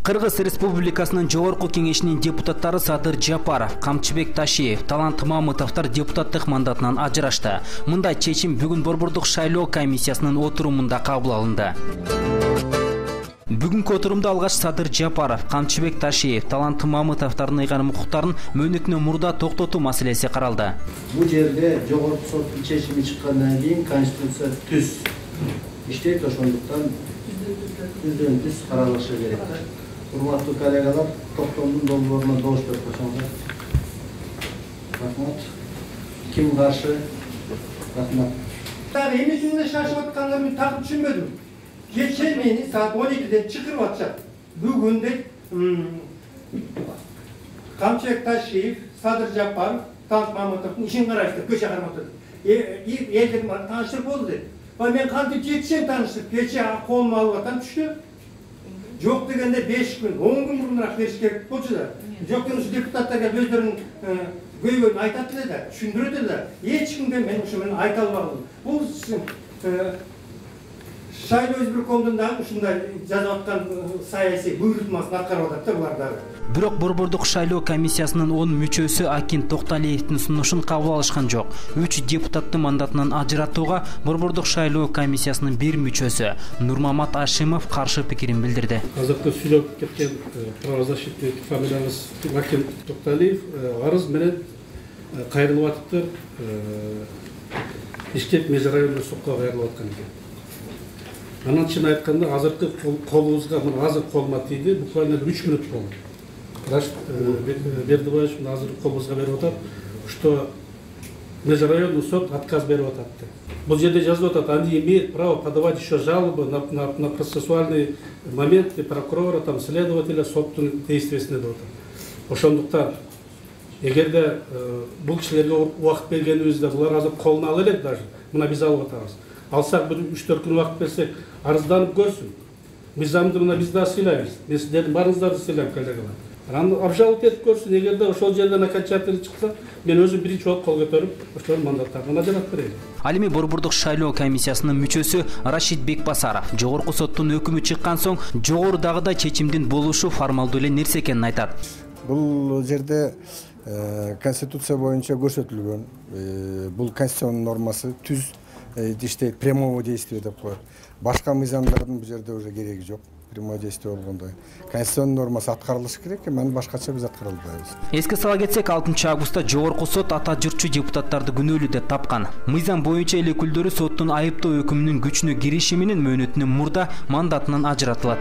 Кыргыз Республикасынын Жогорку Кеңешинин депутаттары Садыр Жапаров, Камчыбек Ташиев, Талант Мамытовдор депутаттык мандатынан ажырашты. Мындай чечим бүгүн Борбордук шайлоо комиссиясынын отурумунда кабыл алынды. Бүгүнкү отурумда алгач Садыр Жапаров, Камчыбек Ташиев, Талант Мамытовдордун ыйгарым укуктарын мөөнөтүнөн мурда токтотуу маселеси каралды. Бул жерде жогорку соттун чечими чыккандан кийин Конституция түз иштейт, ошондуктан түздөн түз каралышы керек. Урматтуу коллегалар, токтомдун долбооруна добуш берип койсоңуздар. Рахмат. Ким каршы? Рахмат. Дагы эмне үчүн шашып атканын мен так түшүнбөдүм. Кечээ мени саат 12-ден чакырып атышат. Бүгүн деп Камчыбек Ташиев, Садыр Жапаров, Талант Мамытовдун ишин караштырып көчө карматты. Элдин тааныштырып болду деп. Мен кантип жетишем тааныштырып, кечээ колума алып атам түштү. Жок дегенде 5 күн, 10 күн мурунураак бериш керек болчу да. Жок дегенде депутаттарга өздөрүнүн көйгөйүн айтат эле да, түшүндүрөт эле да. Эч кимге мен ошо менен айта албадым. Бул шайлоо избиркомдун дагы ушундай жазып аткан саясий буйрутмасын аткарып атат да булар дагы. Бирок Борбордук шайлоо комиссиясынын 10 мүчөсү Акин Токталиевдин сунушун кабыл алышкан жок. 3 депутаттын мандатынан ажыратууга Борбордук шайлоо комиссиясынын 1 мүчөсү Нурмамат Ашимов каршы пикирин билдирди. Азыркы сүйлөп кеткен правозащитник фамилияңыз Акин Токталиев арыз менен кайрылып атыптыр. Бишкек межрайондук сотко кайрылып аткан экен. Анан чын айтканда азыркы колубузга азыр колума тийди, буквально 3 мүнөт болду. Рашид Бердибаевич азыр колубузга берип атат, что межрайонный суд отказ берип атат. Бул жерде жазылып атат, они имеют право подавать еще жалобы на процессуальный момент и прокурора, там следователя соттун действиясына деп атат. Ошондуктан эгерде бул кишилерге убакыт бергенибизде булар азыр колуна ала элек даже, мына биз алып атабыз. Алсак бир 3-4 күн убакыт берсек, арызданып көрсүн. Мыйзамды мына биз да сыйлайбыз. Мен сиздердин барыңыздарды сыйлайм, коллегалар. Анан обжаловать этип көрсүн, эгерде ошол жерден окончательно чыкса, мен өзүм биринчи болуп кол көтөрүп, ошолордун мандаттарына ажыратып берейин. Ал эми Борбордук шайлоо комиссиясынын мүчөсү Рашид Бекбасаров жогорку соттун өкүмү чыккан соң жогорудагыдай чечимдин болушу формалдуу эле нерсе экенин айтат. Бул жерде Конституция боюнча көрсөтүлгөн. Бул конституциянын нормасы түз иштейт, прямого действия деп коет. Башка мыйзамдардын бул жерде уже кереги жок. Прямое действие болгондой. Конституциянын нормасы аткарылышы керек, анан башкача биз аткара албайбыз. Эске сала кетсек, 6-августта Жогорку сот ата журтчу депутаттарды күнөөлүү деп тапкан. Мыйзам боюнча эл өкүлдөрү соттун айыптоо өкүмүнүн күчүнө кириши менен мөөнөтүнөн мурда мандатынан ажыратылат.